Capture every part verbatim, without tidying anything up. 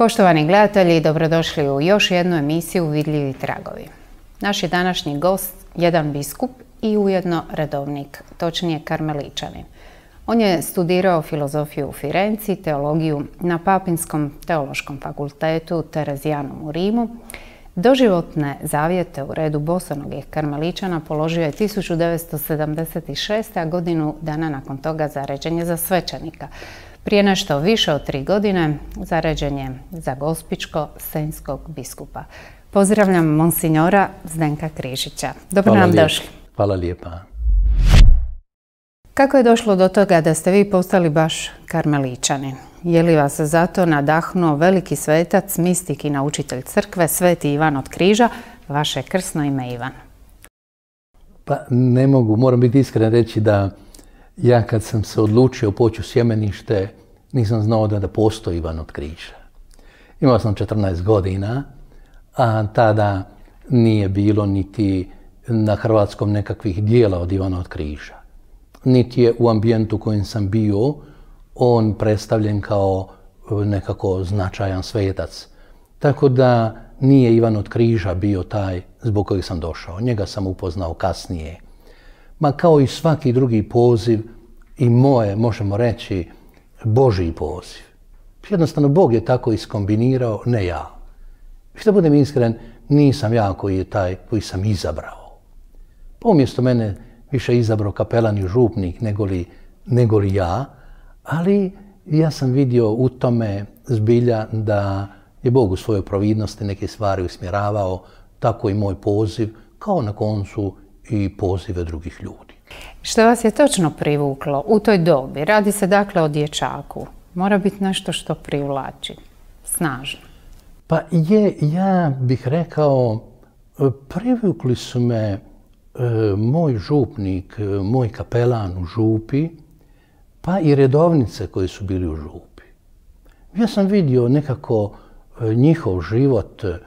Poštovani gledatelji, dobrodošli u još jednu emisiju Vidljivi tragovi. Naš je današnji gost jedan biskup i ujedno redovnik, točnije karmeličanin. On je studirao filozofiju u Firenci, teologiju na Papinskom teološkom fakultetu Terezijanum u Rimu. Doživotne zavjete u redu bosonogih karmeličana položio je tisuću devetsto sedamdeset šeste. a godinu dana nakon toga zaređen je za svećenika. Prije nešto više od tri godine zaređen je za gospičko-senjskog biskupa. Pozdravljam monsinjora Zdenka Križića. Dobro nam došli. Hvala lijepa. Kako je došlo do toga da ste vi postali baš karmeličanin? Je li vas zato nadahnuo veliki svetac, mistik i naučitelj crkve, Sveti Ivan od Križa, vaše krsno ime Ivan? Pa ne mogu, moram biti iskren reći da ja kad sam se odlučio poći u sjemenište, nisam znao da, da postoji Ivan od Križa. Imao sam četrnaest godina, a tada nije bilo niti na hrvatskom nekakvih dijela od Ivana od Križa. Niti je u ambijentu u kojem sam bio on predstavljen kao nekako značajan svetac. Tako da nije Ivan od Križa bio taj zbog kojeg sam došao. Njega sam upoznao kasnije. Ma kao i svaki drugi poziv, i moje, možemo reći, Božji poziv. Jednostavno, Bog je tako iskombinirao, ne ja. Što budem iskren, nisam ja koji je taj koji sam izabrao. Umjesto mene više izabrao kapelan i župnik negoli, negoli ja, ali ja sam vidio u tome zbilja da je Bog u svojoj providnosti neke stvari usmjeravao, tako i moj poziv, kao na koncu i pozive drugih ljudi. Što vas je točno privuklo u toj dobi? Radi se dakle o dječaku. Mora biti nešto što privlači, snažno. Pa je, ja bih rekao, privukli su me e, moj župnik, moj kapelan u župi, pa i redovnice koji su bili u župi. Ja sam vidio nekako e, njihov život e,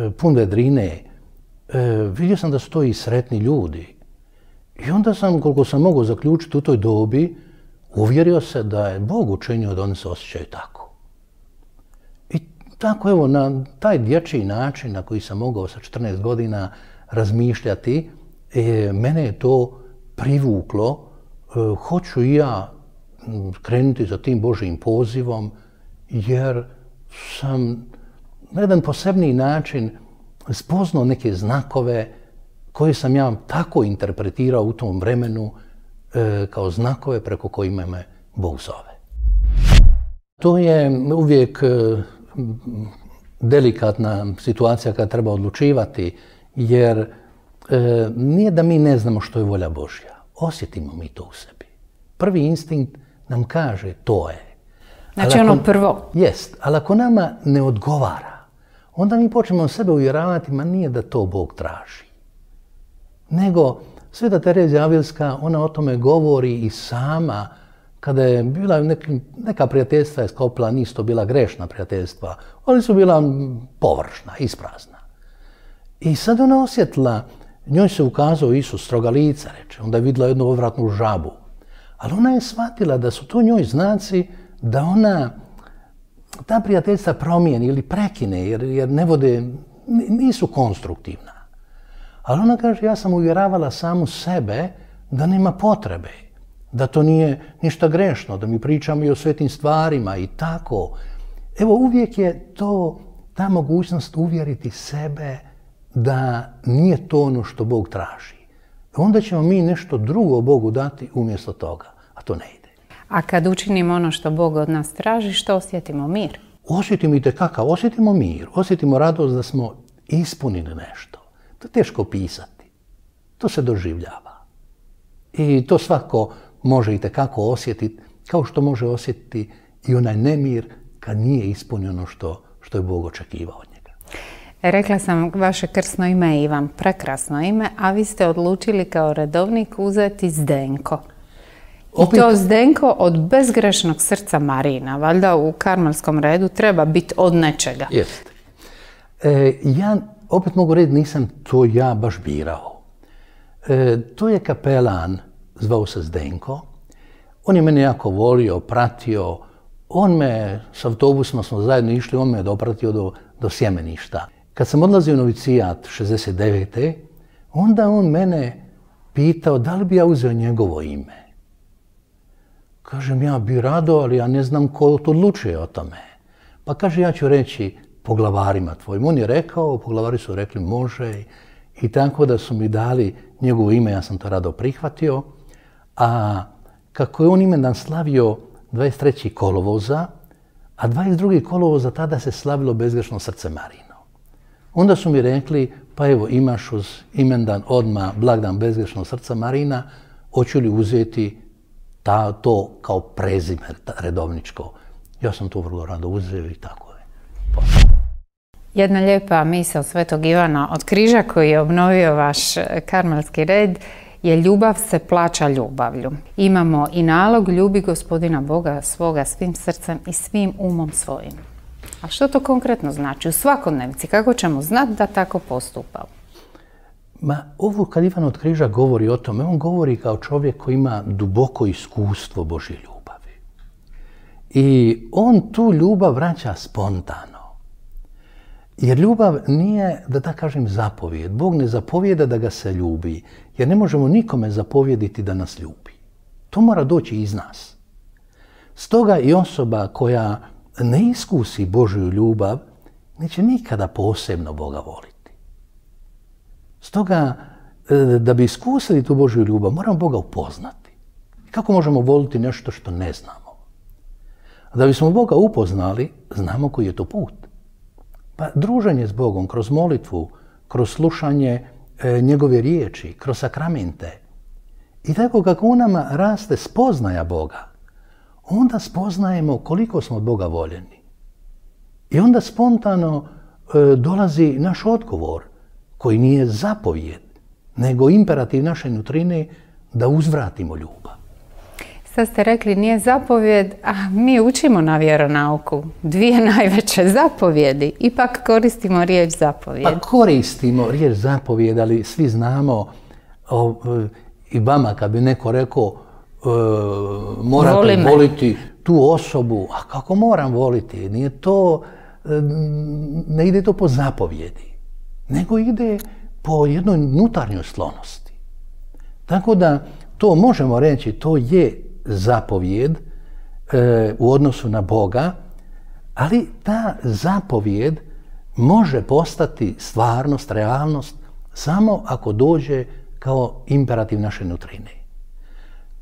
pun vedrine. E, vidio sam da su to i sretni ljudi. I onda sam, koliko sam mogao zaključiti u toj dobi, uvjerio se da je Bog učinio da oni se osjećaju tako. I tako, evo, na taj dječji način na koji sam mogao sa četrnaest godina razmišljati, e, mene je to privuklo. E, hoću i ja krenuti za tim Božjim pozivom, jer sam na jedan posebniji način spoznao neke znakove koje sam ja tako interpretirao u tom vremenu e, kao znakove preko kojima me Bog zove. To je uvijek e, delikatna situacija kada treba odlučivati, jer e, nije da mi ne znamo što je volja Božja. Osjetimo mi to u sebi. Prvi instinkt nam kaže to je. Znači ono prvo. Jest, ali ako nama ne odgovara, onda mi počnemo sebe uvjeravati, ma nije da to Bog traži. Nego, Sveta Terezija Avilska, ona o tome govori i sama, kada je bila neki, neka prijateljstva je sklopila, nisu to bila grešna prijateljstva, ali su bila površna, isprazna. I sad ona osjetila, njoj se ukazao Isus stroga lica, reče, onda je vidjela jednu odvratnu žabu. Ali ona je shvatila da su to njoj znaci da ona ta prijateljstva promijeni ili prekine, jer, jer ne vode, nisu konstruktivna. Ali ona kaže, ja sam uvjeravala samu sebe da nema potrebe, da to nije ništa grešno, da mi pričamo i o svetim stvarima i tako. Evo, uvijek je to ta mogućnost uvjeriti sebe da nije to ono što Bog traži. Onda ćemo mi nešto drugo Bogu dati umjesto toga, a to ne ide. A kad učinimo ono što Bog od nas traži, što osjetimo? Mir? Osjetimo i tekakav, osjetimo mir, osjetimo radost da smo ispunili nešto. To je teško pisati. To se doživljava. I to svako može i tekako osjetiti, kao što može osjetiti i onaj nemir kad nije ispunio ono što, što je Bog očekivao od njega. Rekla sam, vaše krsno ime je Ivan, prekrasno ime, a vi ste odlučili kao redovnik uzeti Zdenko. I Opet... to Zdenko od bezgrešnog srca Marina. Valjda u karmelskom redu treba biti od nečega. Jeste. E, ja opet mogu reći, nisam to ja baš birao. E, to je kapelan, zvao se Zdenko. On je mene jako volio, pratio On me, s autobusima smo zajedno išli, on me je dopratio do, do Sjemeništa. Kad sam odlazio u novicijat šezdeset devete. onda on mene pitao da li bi ja uzeo njegovo ime. Kažem, ja bi rado, ali ja ne znam ko to odlučuje o tome. Pa kaže, ja ću reći poglavarima tvojim. On je rekao, poglavari su rekli može i tako da su mi dali njegovo ime, ja sam to rado prihvatio. A kako je on imendan slavio dvadeset trećeg kolovoza, a dvadeset drugog kolovoza tada se slavilo Bezgrešno srce Marino. Onda su mi rekli, pa evo imaš uz imendan odmah blagdan Bezgrešnog srca Marina, hoću li uzeti ta, to kao prezime redovničko. Ja sam to vrlo rado uzeo i tako je. Jedna lijepa misao Svetog Ivana od Križa koji je obnovio vaš karmelski red je ljubav se plaća ljubavlju. Imamo i nalog ljubi Gospodina Boga svoga svim srcem i svim umom svojim. A što to konkretno znači u svakodnevnici? Kako ćemo znati da tako postupamo? Ma, ovo kad Ivan od Križa govori o tome, on govori kao čovjek koji ima duboko iskustvo Božje ljubavi. I on tu ljubav vraća spontano. Jer ljubav nije, da tako kažem, zapovijed. Bog ne zapovijeda da ga se ljubi, jer ne možemo nikome zapovjediti da nas ljubi. To mora doći iz nas. Stoga i osoba koja ne iskusi Božju ljubav, neće nikada posebno Boga voliti. Stoga, da bi iskusili tu Božju ljubav, moramo Boga upoznati. Kako možemo voliti nešto što ne znamo? Da bismo Boga upoznali, znamo koji je to put. Pa druženje s Bogom kroz molitvu, kroz slušanje e, njegove riječi, kroz sakramente. I tako kako u nama raste spoznaja Boga, onda spoznajemo koliko smo od Boga voljeni. I onda spontano e, dolazi naš odgovor, koji nije zapovjed, nego imperativ naše nutrine da uzvratimo ljubav. Sad ste rekli nije zapovjed, a mi učimo na vjeronauku dvije najveće zapovjedi. Ipak koristimo riječ zapovjed. Pa koristimo riječ zapovjed, ali svi znamo o, i vama kad bi neko rekao e, morate voliti tu osobu, a kako moram voliti? Nije to, ne ide to po zapovjedi, nego ide po jednoj unutarnjoj sklonosti. Tako da to možemo reći, to je zapovjed e, u odnosu na Boga, ali ta zapovjed može postati stvarnost, realnost, samo ako dođe kao imperativ naše nutrine.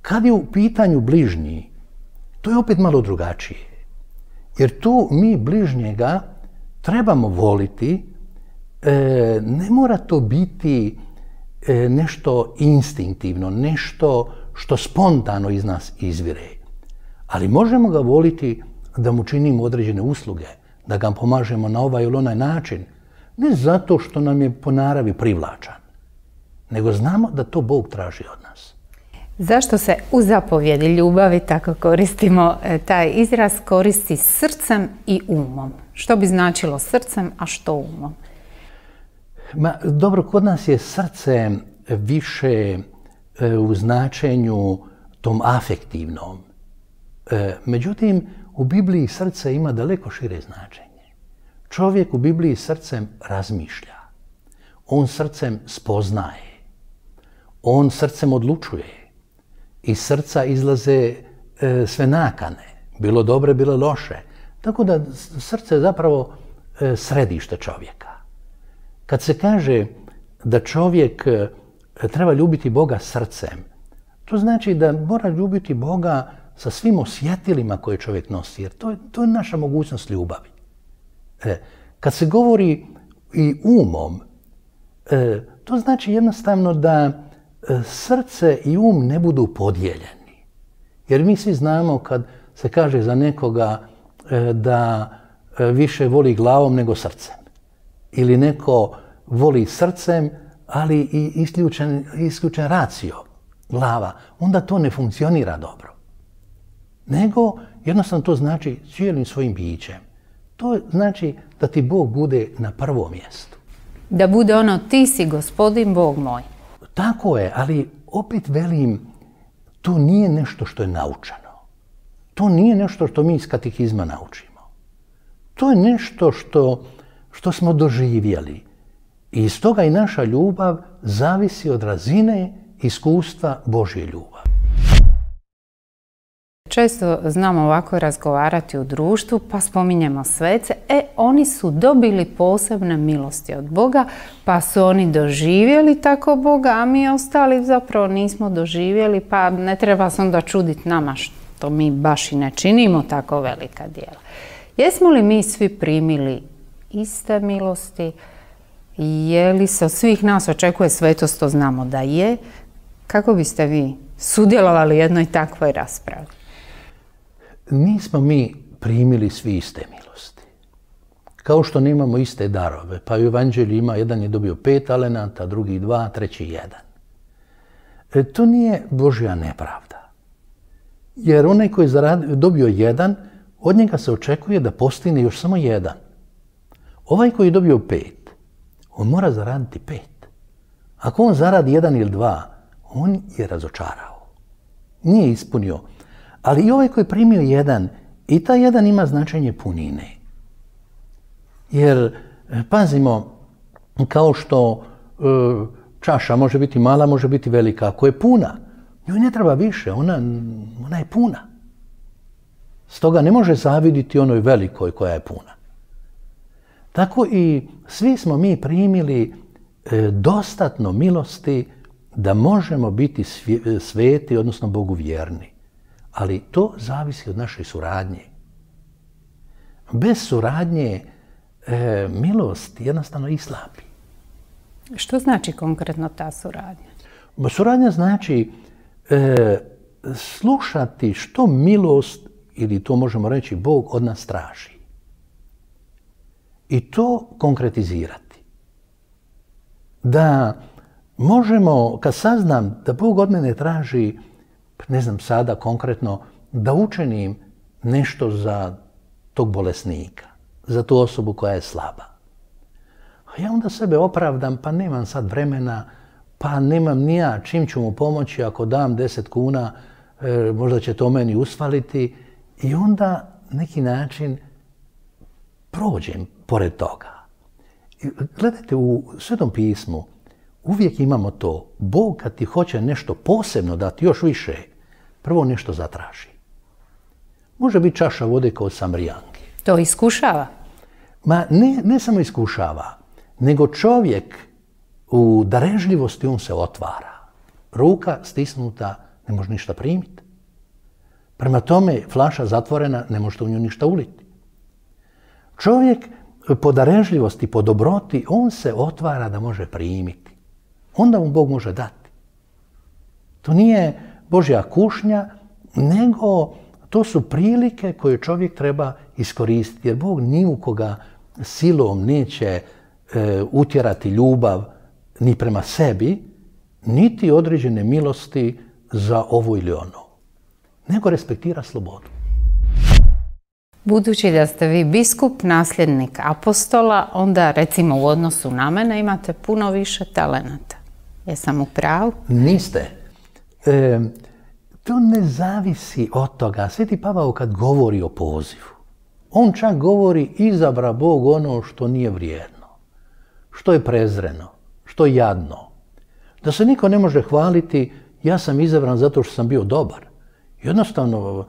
Kad je u pitanju bližnji, to je opet malo drugačije. Jer tu mi bližnjega trebamo voliti, e, ne mora to biti e, nešto instinktivno, nešto što spontano iz nas izvire. Ali možemo ga voliti da mu činimo određene usluge, da ga pomažemo na ovaj ili onaj način, ne zato što nam je po naravi privlačan, nego znamo da to Bog traži od nas. Zašto se u zapovjedi ljubavi, tako koristimo taj izraz, koristi srcem i umom? Što bi značilo srcem, a što umom? Ma, dobro, kod nas je srce više u značenju tom afektivnom. Međutim, u Bibliji srce ima daleko šire značenje. Čovjek u Bibliji srcem razmišlja. On srcem spoznaje. On srcem odlučuje. Iz srca izlaze sve nakane. Bilo dobre, bilo loše. Tako da srce je zapravo središte čovjeka. Kad se kaže da čovjek treba ljubiti Boga srcem, to znači da mora ljubiti Boga sa svim osjetilima koje čovjek nosi, jer to je, to je naša mogućnost ljubavi. E, kad se govori i umom, e, to znači jednostavno da e, srce i um ne budu podijeljeni. Jer mi svi znamo kad se kaže za nekoga e, da e, više voli glavom nego srcem. Ili neko voli srcem, ali i isključen, isključen racio, glava, onda to ne funkcionira dobro. Nego jednostavno to znači cijelim svojim bićem. To znači da ti Bog bude na prvom mjestu. Da bude ono ti si Gospodin Bog moj. Tako je, ali opet velim, to nije nešto što je naučeno. To nije nešto što mi iz katehizma naučimo. To je nešto što, što smo doživjeli. I iz toga i naša ljubav zavisi od razine iskustva Božje ljubavi. Često znamo ovako razgovarati u društvu, pa spominjemo svece. E, oni su dobili posebne milosti od Boga, pa su oni doživjeli tako Boga, a mi ostali zapravo nismo doživjeli, pa ne treba se onda čuditi nama što mi baš i ne činimo tako velika djela. Jesmo li mi svi primili iste milosti? Je li se od svih nas očekuje svetost, to znamo da je. Kako biste vi sudjelovali u jednoj takvoj raspravi? Nismo mi primili svi iste milosti. Kao što nemamo iste darove, pa u Evanđelju ima, jedan je dobio pet talenata, drugi dva, treći jedan. E, to nije Božja nepravda. Jer onaj koji je dobio jedan, od njega se očekuje da postigne još samo jedan. Ovaj koji je dobio pet, on mora zaraditi pet. Ako on zaradi jedan ili dva, on je razočarao. Nije ispunio. Ali i ovaj koji je primio jedan, i taj jedan ima značenje punine. Jer, pazimo, kao što e, čaša može biti mala, može biti velika. Ako je puna, njoj ne treba više, ona, ona je puna. Stoga ne može zaviditi onoj velikoj koja je puna. Tako i svi smo mi primili e, dostatno milosti da možemo biti sveti, odnosno Bogu vjerni. Ali to zavisi od naše suradnje. Bez suradnje e, milost jednostavno islabi. Što znači konkretno ta suradnja? Suradnja znači e, slušati što milost, ili to možemo reći Bog od nas traži. I to konkretizirati. Da možemo, kad saznam da Bog od mene traži, ne znam sada konkretno, da učinim nešto za tog bolesnika, za tu osobu koja je slaba. A ja onda sebe opravdam, pa nemam sad vremena, pa nemam ni ja čim ću mu pomoći, ako dam deset kuna, e, možda će to meni usvaliti. I onda neki način prođem pored toga. I gledajte, u Svetom pismu uvijek imamo to. Bog kad ti hoće nešto posebno dati, još više, prvo nešto zatraži. Može biti čaša vode kao Samarijanki. To iskušava? Ma ne, ne samo iskušava, nego čovjek u darežljivosti on se otvara. Ruka stisnuta ne može ništa primiti. Prema tome, flaša zatvorena, ne možete u nju ništa uliti. Čovjek po darežljivosti, po dobroti, on se otvara da može primiti. Onda mu Bog može dati. To nije Božja kušnja, nego to su prilike koje čovjek treba iskoristiti. Jer Bog ni u koga silom neće e, utjerati ljubav ni prema sebi, niti određene milosti za ovo ili ono. Nego respektira slobodu. Budući da ste vi biskup, nasljednik apostola, onda recimo u odnosu na mene imate puno više talenata. Jesam u pravu? Niste. E, to ne zavisi od toga. Sveti Pavao kad govori o pozivu, on čak govori izabra Bog ono što nije vrijedno, što je prezreno, što je jadno. Da se niko ne može hvaliti, ja sam izabran zato što sam bio dobar. Jednostavno,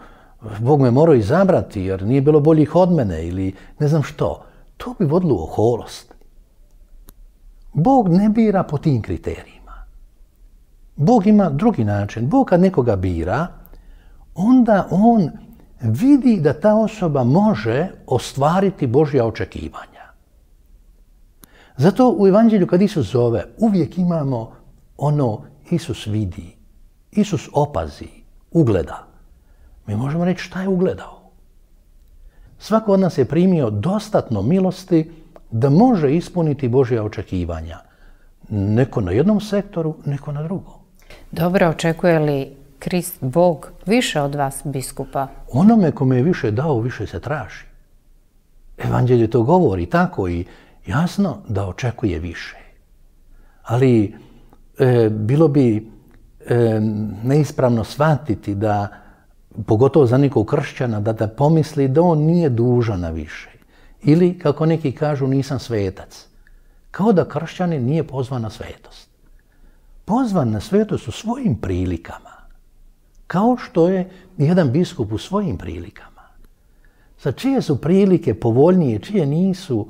Bog me morao izabrati jer nije bilo boljih od mene ili ne znam što. To bi vodilo u oholost. Bog ne bira po tim kriterijima. Bog ima drugi način. Bog kad nekoga bira, onda on vidi da ta osoba može ostvariti Božja očekivanja. Zato u Evanđelju kad Isus zove, uvijek imamo ono Isus vidi, Isus opazi, ugleda. Mi možemo reći šta je ugledao. Svako od nas je primio dostatno milosti da može ispuniti Božja očekivanja. Neko na jednom sektoru, neko na drugom. Dobro, očekuje li Krist Bog više od vas, biskupa? Onome kome je više dao, više se traži. Evanđelje to govori tako i jasno da očekuje više. Ali e, bilo bi e, neispravno shvatiti da pogotovo za nekog kršćana, da da pomisli da on nije dužan na više. Ili, kako neki kažu, nisam svetac. Kao da kršćanin nije pozvan na svetost. Pozvan na svetost u svojim prilikama. Kao što je jedan biskup u svojim prilikama. Za čije su prilike povoljnije, čije nisu,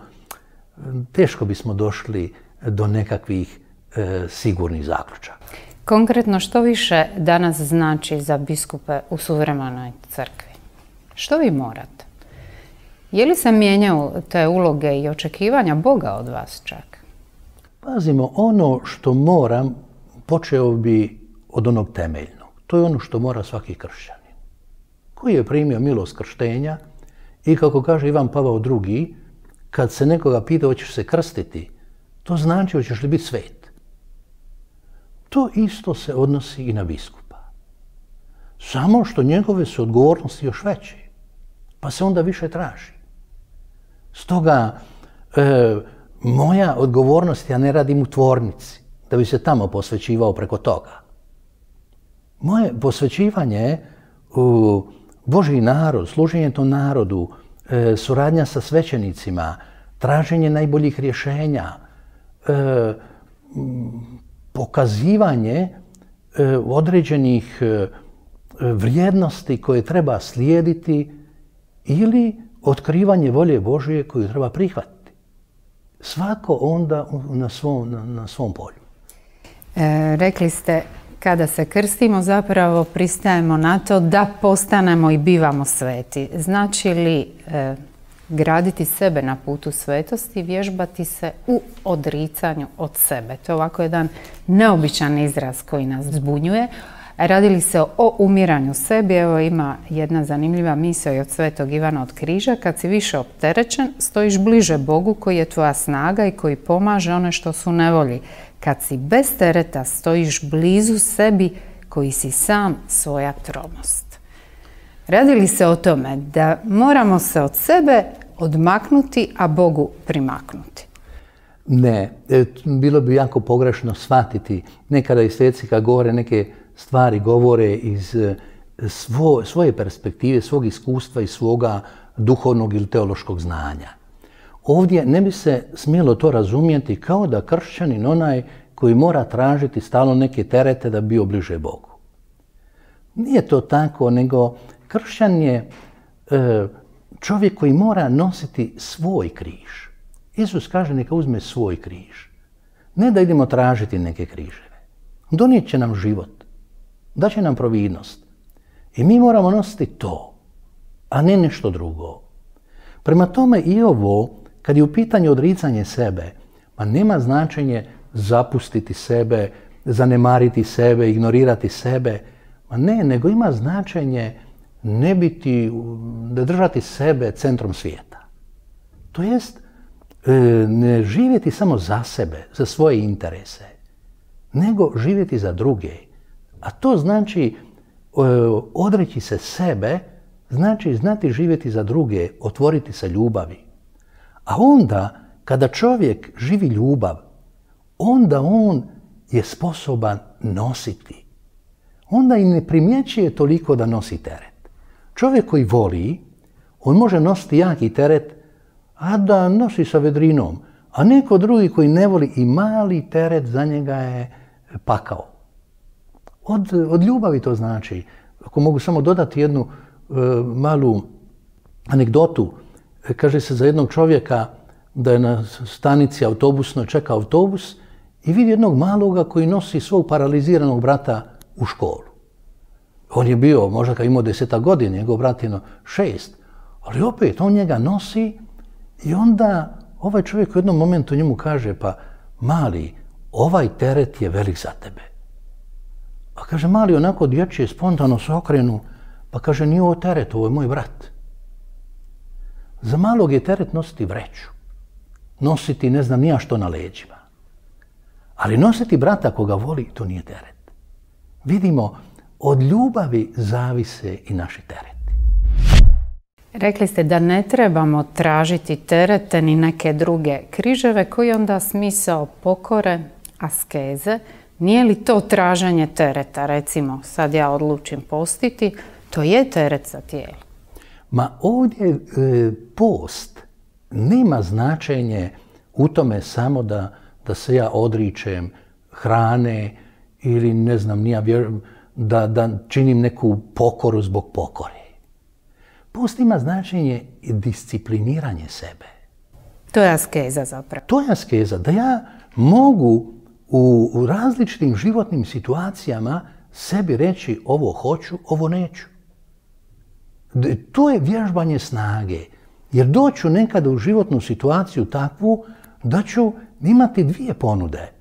teško bismo došli do nekakvih e, sigurnih zaključaka. Konkretno, što više danas znači za biskupe u suvremenoj crkvi? Što vi morate? Je li se mijenjaju te uloge i očekivanja Boga od vas čak? Pazimo, ono što moram, počeo bi od onog temeljnog. To je ono što mora svaki kršćanin. Koji je primio milost krštenja i, kako kaže Ivan Pavao drugi, kad se nekoga pita hoćeš se krstiti, to znači hoćeš li biti svet. To isto se odnosi i na biskupa. Samo što njegove su odgovornosti još veće, pa se onda više traži. Stoga, e, moja odgovornost, ja ne radim u tvornici, da bi se tamo posvećivao preko toga. Moje posvećivanje u Božji narod, služenje tom narodu, e, suradnja sa svećenicima, traženje najboljih rješenja, e, pokazivanje e, određenih e, vrijednosti koje treba slijediti ili otkrivanje volje Božje koju treba prihvatiti. Svako onda na svom, na, na svom polju. E, rekli ste, kada se krstimo zapravo pristajemo na to da postanemo i bivamo sveti. Znači li e, graditi sebe na putu svetosti, vježbati se u odricanju od sebe? To je ovako jedan neobičan izraz koji nas zbunjuje. Radi li se o umiranju sebi? Evo, ima jedna zanimljiva misao i od svetog Ivana od Križa. Kad si više opterećen, stojiš bliže Bogu koji je tvoja snaga i koji pomaže one što su u nevolji. Kad si bez tereta, stojiš blizu sebi koji si sam svoja tromost. Radi li se o tome da moramo se od sebe odmaknuti, a Bogu primaknuti? Ne, bilo bi jako pogrešno shvatiti. Nekada i sveci kad govore neke stvari, govore iz svo, svoje perspektive, svog iskustva i svoga duhovnog ili teološkog znanja. Ovdje ne bi se smjelo to razumjeti kao da kršćanin onaj koji mora tražiti stalno neke terete da bi bio bliže Bogu. Nije to tako, nego kršćan je e, čovjek koji mora nositi svoj križ. Isus kaže neka uzme svoj križ. Ne da idemo tražiti neke križeve. Donijet će nam život. Daće nam providnost. I mi moramo nositi to, a ne nešto drugo. Prema tome i ovo, kad je u pitanju odricanje sebe, ma nema značenje zapustiti sebe, zanemariti sebe, ignorirati sebe. Ma ne, nego ima značenje ne biti, da držati sebe centrom svijeta. To jest, ne živjeti samo za sebe, za svoje interese, nego živjeti za druge. A to znači odreći se sebe, znači znati živjeti za druge, otvoriti se ljubavi. A onda, kada čovjek živi ljubav, onda on je sposoban nositi. Onda i ne primjećuje toliko da nosi teret. Čovjek koji voli, on može nositi jaki teret, a da nosi sa vedrinom. A neko drugi koji ne voli i mali teret za njega je pakao. Od, od ljubavi to znači. Ako mogu samo dodati jednu e, malu anegdotu. E, kaže se za jednog čovjeka da je na stanici autobusnoj čeka autobus i vidi jednog maloga koji nosi svog paraliziranog brata u školu. On je bio, možda kad imao deseta godina, njegov brat je šest, ali opet on njega nosi i onda ovaj čovjek u jednom momentu njemu kaže, pa mali, ovaj teret je velik za tebe. A kaže, mali onako dječje, spontano se okrenu, pa kaže, nije ovo teret, ovo je moj brat. Za malog je teret nositi vreću, nositi ne znam nija što na leđima. Ali nositi brata koga voli, to nije teret. Vidimo, od ljubavi zavise i naši tereti. Rekli ste da ne trebamo tražiti terete ni neke druge križeve, koji onda smisao pokore, askeze. Nije li to traženje tereta? Recimo, sad ja odlučim postiti, to je teret za tijelo. Ma ovdje e, post nema značenje u tome samo da, da se ja odričem hrane ili ne znam, nija da, da činim neku pokoru zbog pokore. Post ima značenje discipliniranje sebe. To je askeza zapravo. To je askeza, da ja mogu u, u različitim životnim situacijama sebi reći ovo hoću, ovo neću. To je vježbanje snage, jer doću nekada u životnu situaciju takvu da ću imati dvije ponude.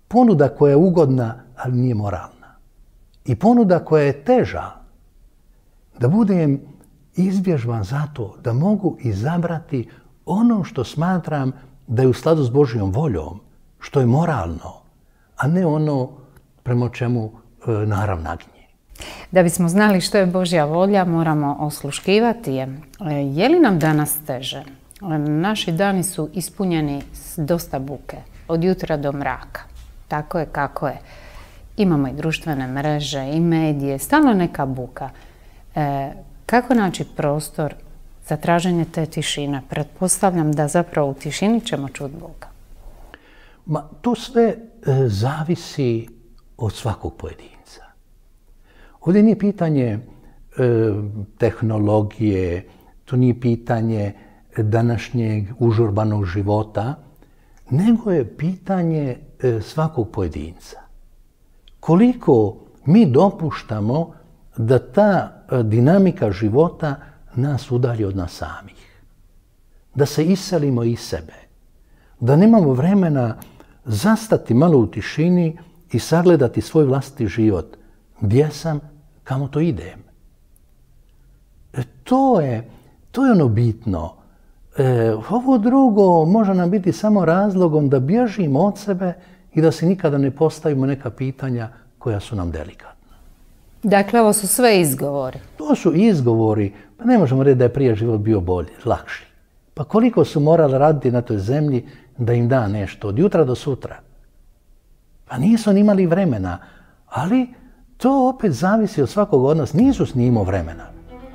Ponuda koja je ugodna, ali nije moralna. I ponuda koja je teža, da budem izvježban zato da mogu izabrati ono što smatram da je u skladu s Božjom voljom, što je moralno, a ne ono prema čemu e, narav naginje. Da bismo znali što je Božja volja, moramo osluškivati je. Je li nam danas teže? Naši dani su ispunjeni s dosta buke, od jutra do mraka. Tako je kako je. Imamo i društvene mreže, i medije, stalno neka buka. E, kako naći prostor za traženje te tišine? Pretpostavljam da zapravo u tišini ćemo čuti Boga. Ma, to sve e, zavisi od svakog pojedinca. Ovdje nije pitanje e, tehnologije, to nije pitanje današnjeg užurbanog života, nego je pitanje e, svakog pojedinca. Koliko mi dopuštamo da ta e, dinamika života nas udalji od nas samih. Da se iselimo iz sebe. Da nemamo vremena zastati malo u tišini i sagledati svoj vlastiti život. Gdje sam, kamo to idem? E, to je, to je ono bitno. E, ovo drugo može nam biti samo razlogom da bježimo od sebe i da se nikada ne postavimo neka pitanja koja su nam delikatna. Dakle, ovo su sve izgovori. To su izgovori. Pa ne možemo reći da je prije život bio bolji, lakši. Pa koliko su morali raditi na toj zemlji da im da nešto od jutra do sutra? Pa nisu ni imali vremena. Ali to opet zavisi od svakog od nas. Nisu s njim imao vremena.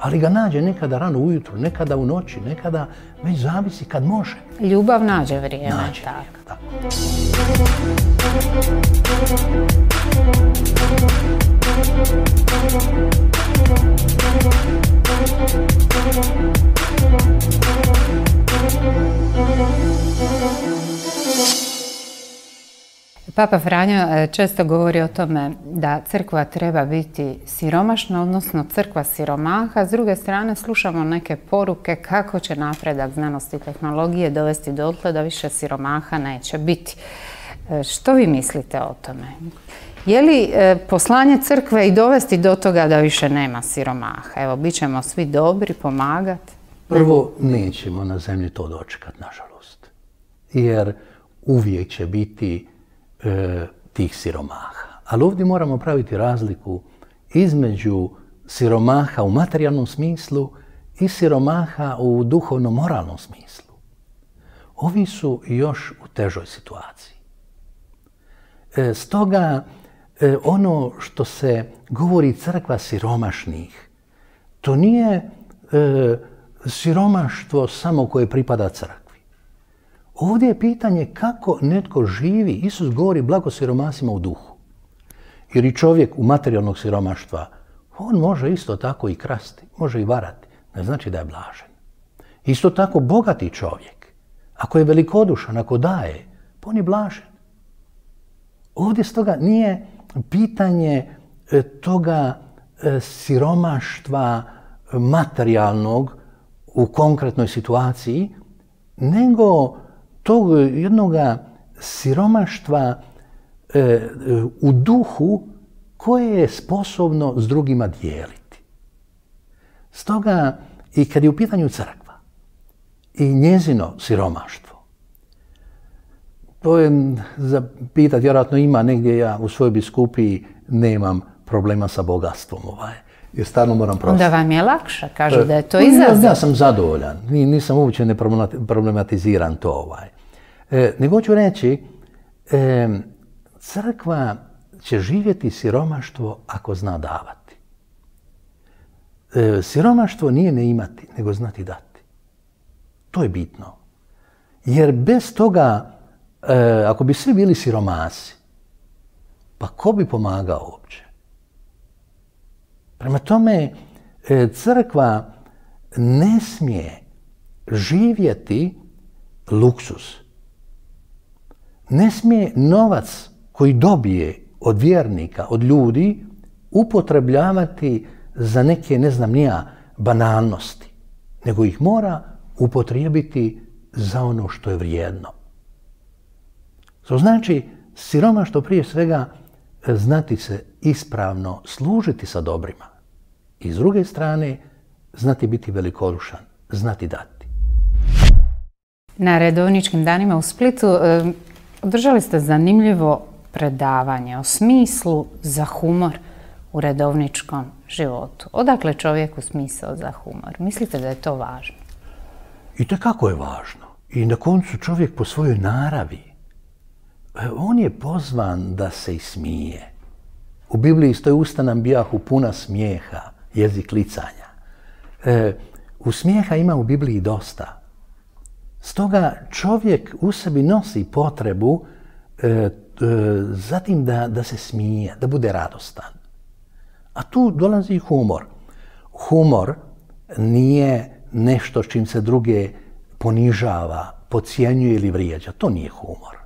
Ali ga nađe nekada rano ujutru, nekada u noći, nekada već zavisi kad može. Ljubav nađe vrijeme. Nađe tako. vrijeme, tako. Papa Franjo često govori o tome da crkva treba biti siromašna, odnosno crkva siromaha. S druge strane slušamo neke poruke kako će napredak znanosti i tehnologije dovesti dotle da više siromaha neće biti. Što vi mislite o tome? Je li poslanje crkve i dovesti do toga da više nema siromaha? Evo, bit ćemo svi dobri, pomagati. Prvo, nećemo na zemlji to dočekati, nažalost. Jer uvijek će biti e, tih siromaha. Ali ovdje moramo praviti razliku između siromaha u materijalnom smislu i siromaha u duhovno-moralnom smislu. Ovi su još u težoj situaciji. E, stoga, e, ono što se govori crkva siromašnih, to nije e, siromaštvo samo koje pripada crkvi. Ovdje je pitanje kako netko živi. Isus govori blago siromasima u duhu. Jer i čovjek u materijalnog siromaštva, on može isto tako i krasti, može i varati. Ne znači da je blažen. Isto tako bogati čovjek, ako je velikodušan, ako daje, on je blažen. Ovdje stoga nije pitanje toga siromaštva materijalnog u konkretnoj situaciji, nego tog jednog siromaštva e, u duhu koje je sposobno s drugima dijeliti. Stoga i kad je u pitanju crkva i njezino siromaštvo, to je za pitat, vjerojatno ima negdje, ja u svojoj biskupiji nemam problema sa bogatstvom ovaj. Jer stvarno moram prositi. Onda vam je lakše, kažu da je to izazov. Ja, ja sam zadovoljan, nisam uopće ne problematiziran to ovaj. E, nego ću reći, e, crkva će živjeti siromaštvo ako zna davati. E, siromaštvo nije ne imati, nego znati dati. To je bitno. Jer bez toga, e, ako bi svi bili siromasi, pa ko bi pomagao uopće? Prema tome, e, crkva ne smije živjeti luksuz. Ne smije novac koji dobije od vjernika, od ljudi, upotrebljavati za neke, ne znam nija, banalnosti, nego ih mora upotrijebiti za ono što je vrijedno. To znači, siromaštvo prije svega znati se ispravno služiti sa dobrima. I s druge strane, znati biti velikodušan, znati dati. Na redovničkim danima u Splitu e, održali ste zanimljivo predavanje o smislu za humor u redovničkom životu. Odakle čovjeku smisao za humor? Mislite da je to važno? I tekako je važno. I na koncu čovjek po svojoj naravi, on je pozvan da se ismije. U Bibliji stoji: usta nam bijahu puna smijeha, jezik licanja. E, u smijeha ima u Bibliji dosta. Stoga čovjek u sebi nosi potrebu e, e, zatim da, da se smije, da bude radostan. A tu dolazi humor. Humor nije nešto s čim se druge ponižava, podcjenjuje ili vrijeđa. To nije humor.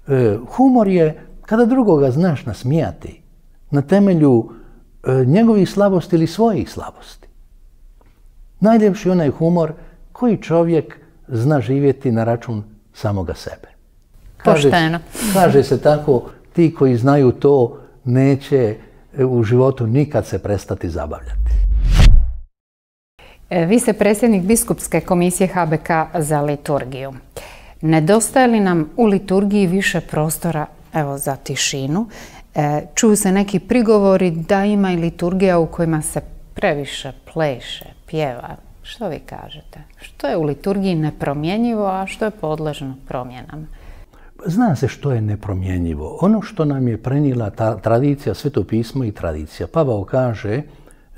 E, humor je kada drugoga znaš nasmijati na temelju e, njegovih slabosti ili svojih slabosti. Najljepši onaj humor koji čovjek zna živjeti na račun samoga sebe. Kaže, Pošteno. Kaže se tako, ti koji znaju to neće u životu nikad se prestati zabavljati. Vi ste predsjednik Biskupske komisije H B K za liturgiju. Nedostaje li nam u liturgiji više prostora, evo, za tišinu? E, čuju se neki prigovori da ima i liturgija u kojima se previše pleše, pjeva. Što vi kažete? Što je u liturgiji nepromjenjivo, a što je podležno promjenama? Zna se što je nepromjenjivo. Ono što nam je prenijela ta tradicija, Sveto pismo i tradicija. Pavao kaže,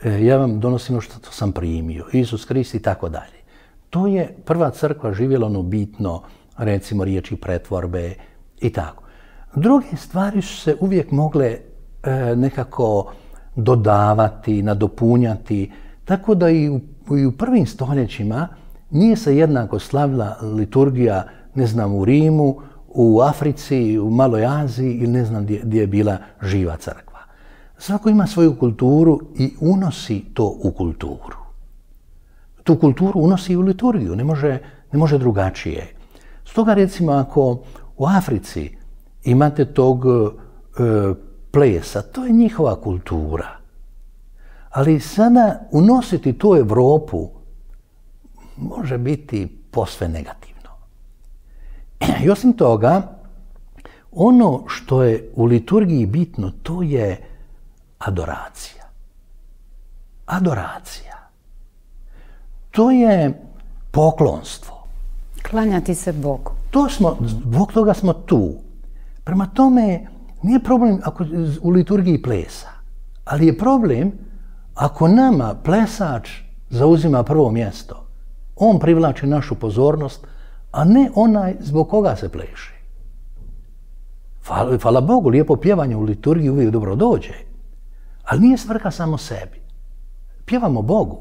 ja vam donosim ono što sam primio, Isus Krist i tako dalje. To je prva crkva živjela ono bitno, recimo riječi pretvorbe i tako. Druge stvari su se uvijek mogle e, nekako dodavati, nadopunjati, tako da i u, i u prvim stoljećima nije se jednako slavila liturgija, ne znam, u Rimu, u Africi, u Maloj Aziji ili ne znam gdje, gdje je bila živa crkva. Svako ima svoju kulturu i unosi to u kulturu. Tu kulturu unosi u liturgiju, ne može, ne može drugačije. Stoga recimo ako u Africi imate tog e, plesa, to je njihova kultura. Ali sada unositi tu Europu može biti posve negativno. I osim toga, ono što je u liturgiji bitno, to je adoracija. Adoracija. To je poklonstvo. Klanjati se Bogu. To smo, zbog toga smo tu. Prema tome, nije problem ako u liturgiji plesa, ali je problem ako nama plesač zauzima prvo mjesto. On privlači našu pozornost, a ne onaj zbog koga se pleše. Hvala, hvala Bogu, lijepo pjevanje u liturgiji uvijek dobro dođe, ali nije svrha samo sebi. Pjevamo Bogu.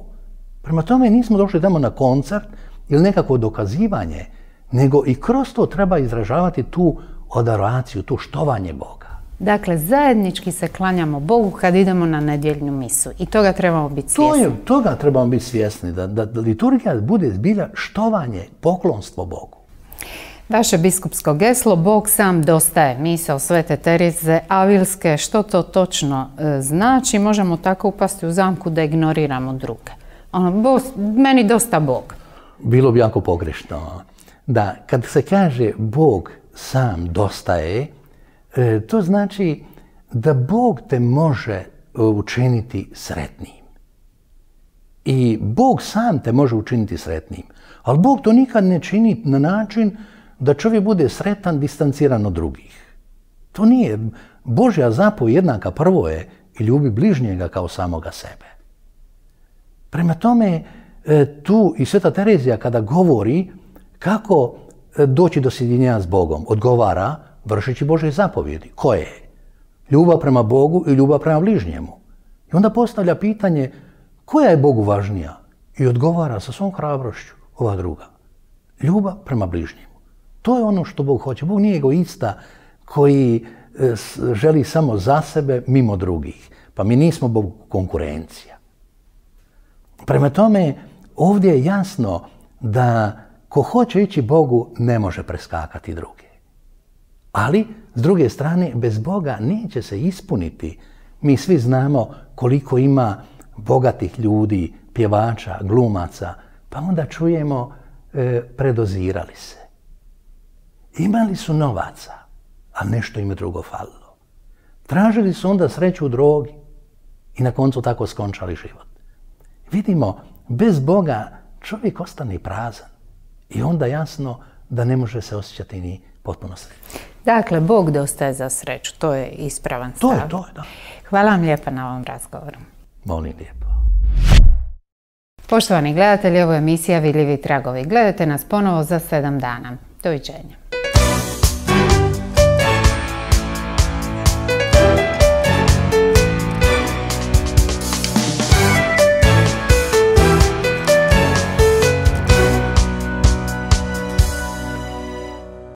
Prema tome nismo došli tamo na koncert ili nekako dokazivanje, nego i kroz to treba izražavati tu adoraciju, tu štovanje Boga. Dakle, zajednički se klanjamo Bogu kad idemo na nedjeljnu misu i toga trebamo biti svjesni. To je, toga trebamo biti svjesni, da, da, da liturgija bude zbilja štovanje, poklonstvo Bogu. Vaše biskupsko geslo, Bog sam dostaje, misao Svete Tereze Avilske, što to točno e, znači? Možemo tako upasti u zamku da ignoriramo druge. Ono, bo, meni dosta Bog. Bilo bi jako pogrešno. Da, kad se kaže Bog sam dostaje, e, to znači da Bog te može učiniti sretnim. I Bog sam te može učiniti sretnim. Ali Bog to nikad ne čini na način da čovjek bude sretan, distanciran od drugih. To nije. Božja zapovjed jednaka prvo je i ljubi bližnjega kao samoga sebe. Prema tome, tu i Sveta Terezija kada govori kako doći do sjedinjenja s Bogom, odgovara vršeći Božje zapovjedi. Koje? Ljubav prema Bogu i ljubav prema bližnjemu. I onda postavlja pitanje koja je Bogu važnija i odgovara sa svom hrabrošću ova druga. Ljubav prema bližnjemu. To je ono što Bog hoće. Bog nije egoista koji želi samo za sebe mimo drugih. Pa mi nismo Bogu konkurencija. Prema tome, ovdje je jasno da ko hoće ići Bogu ne može preskakati druge. Ali, s druge strane, bez Boga neće se ispuniti. Mi svi znamo koliko ima bogatih ljudi, pjevača, glumaca, pa onda čujemo e, predozirali se. Imali su novaca, a nešto im je drugo falilo. Tražili su onda sreću u drogi i na koncu tako skončali život. Vidimo, bez Boga čovjek ostane prazan i onda jasno da ne može se osjećati ni potpuno srećan. Dakle, Bog dostaje za sreću, to je ispravan stav. To je, to je, da. Hvala vam lijepa na ovom razgovoru. Molim lijepo. Poštovani gledatelji, ovo je emisija Vidljivi tragovi. Gledajte nas ponovo za sedam dana. Doviđenja.